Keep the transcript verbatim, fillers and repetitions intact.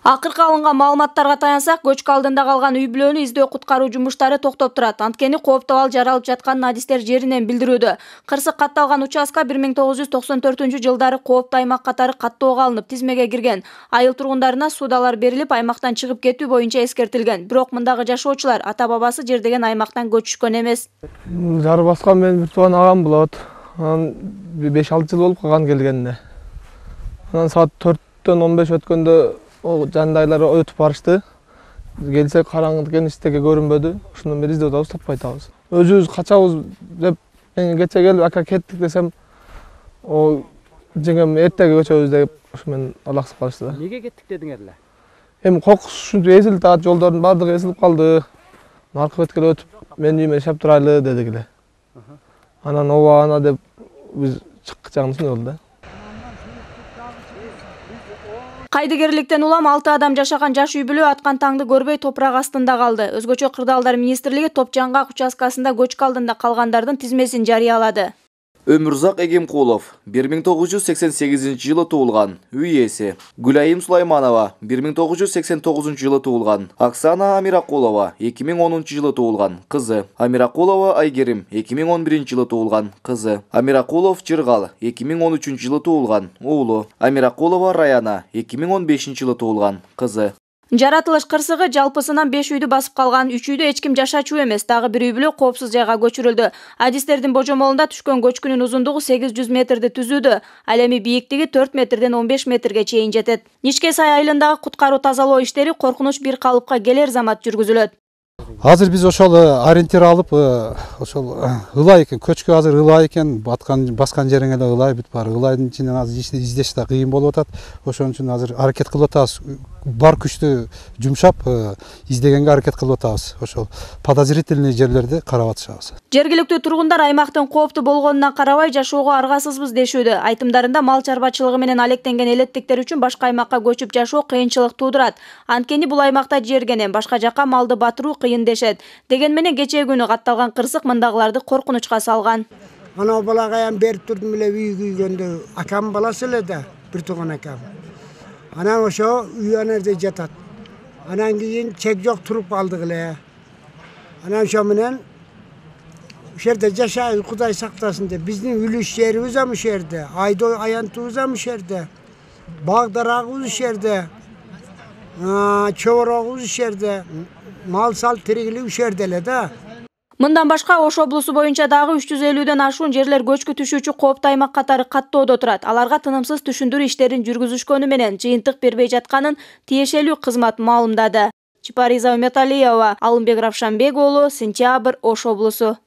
Акыркы алынган маалыматтарга таянсак, көчкү алдында калган үй бүлөнү издөө куткаруу жумуштары токтоп турат. Анткени кооптуу абал жаралып жатканын адистер жеринен билдирүүдө. Кырсык катталган участка бир миң тогуз жүз токсон төртүнчү жылдары кооптуу аймак катары каттоого алынып, тизмеге кирген. Айыл тургундарына суудалар берилип, аймактан чыгып кетүү боюнча эскертилген. Бирок мындагы жашоочулар ата-бабасы жер деген аймактан көчүшкөн эмес. Жары баскан менин бир тууган агам болот. Анан беш алты жыл болуп калган келгенине. Анан саат төрттөн он беш өткөндө о жандайлар өтүп барышты. Келсек караңгы экен, эчтеке көрүнбөдү. Ошондон бери издеп атабыз, таппай атабыз. Өзүбүз качабыз деп мен кече келип ака кеттик десем, о жеңем эртеге көчөбүз деп ошо менен алаксып калышты да. Неге кеттик дедиңер эле? Эми кокус ушинтип эзилип атат, жолдордун баардыгы эзилип калды. Аркы бетке өтүп менин үйүмө шап турайлы дедик эле. Анан ооба ана деп биз чыккычагында ушундай болду да. Кайдыгерликтен улам алты адам жашаган жаш үй бүлө аткан таңды көрбөй топурак астында калды. Өзгөчө Кырдаалдар министрлиги Топжаңгак участкасында көчкү алдында калгандардын тизмесин жарыялады. Өмүрзак Эгемкулов бир миң тогуз жүз сексен сегизинчи жылы туулган, үй ээси. Гүлайым Сулайманова бир миң тогуз жүз сексен тогузунчу жылы туулган. Оксана Амиракулова эки миң онунчу жылы туулган, кызы. Амиракулова Айгерим эки миң он биринчи жылы туулган, кызы. Амиракулов Жыргал эки миң он үчүнчү жылы туулган, уулу. Амиракулова Раяна эки миң он бешинчи жылы туулган, кызы. Жаратылыш кырсыгы жалпысынан беш үйдү басып калган. Үч үйдө эч ким жашачу эмес. Дагы бир үй бүлө коопсуз жайга көчүрүлдү. Адистердин божомолунда түшкөн көчкүнүн узундугу сегиз жүз метрди түзүүдө. Ал эми бийиктиги төрт метрден он беш метрге чейин жетет. Нишке сай айылындагы куткаруу тазалоо иштери коркунуч бир калыпка келер замат жүргүзүлөт. Азыр биз ошол ориентир алып, ошол ылай экен, көчкү азыр ылай экен, баткан баскан жериң эле ылай, бүт баары ылайдын ичинен азыр издеш да кыйын болуп атат. Ошон үчүн азыр аракет кылып атабыз. Бар күчтү жумшап, издегенге аракет кылып атабыз. Ошол подозрительный жерлерди карап атышабыз. Жергиликтүү тургундар аймактын кооптуу болгонуна карабай жашоого аргасызбыз дешүүдө. Айтымдарында мал чарбачылыгы менен алектенген элеттиктер үчүн башка аймакка көчүп жашоо кыйынчылык туудурат. Анткени бул аймакта жергенен башка жакка малды батыруу кыйын дешет. Деген менен кечээ күнү катталган кырсык мындагыларды коркунучка салган. Анау балага аян берип турдум эле үй күйгөндө, акам баласы эле да, бир тууган акам. Анан ошо үй анерде жатат. Анан кийин чек жок туруп калдык эле. Анан ошо менен ошол жерде жашайбыз, Кудай сактасын деп. Биздин үлүш жерибиз ам ошол жерде, айдоо аянтыбыз ам ошол жерде. Баг дарагыбыз ошол жерде. Чоборогубуз ошол жерде. Мал сал тиригилик ошол жерде эле да. Мындан башка Ош облусу боюнча дагы үч жүз элүүдөн ашуун жерлер көчкү түшүүчү кооптуу аймак катары каттоодо турат. Аларга тынымсыз түшүндүрүү иштерин жүргүзүшкөнү менен жыйынтык бербей жатканын тиешелүү кызмат маалымдады. Чипариза Уметалиева, Алымбек Равшанбек уулу, Сентябрь, Ош облусу.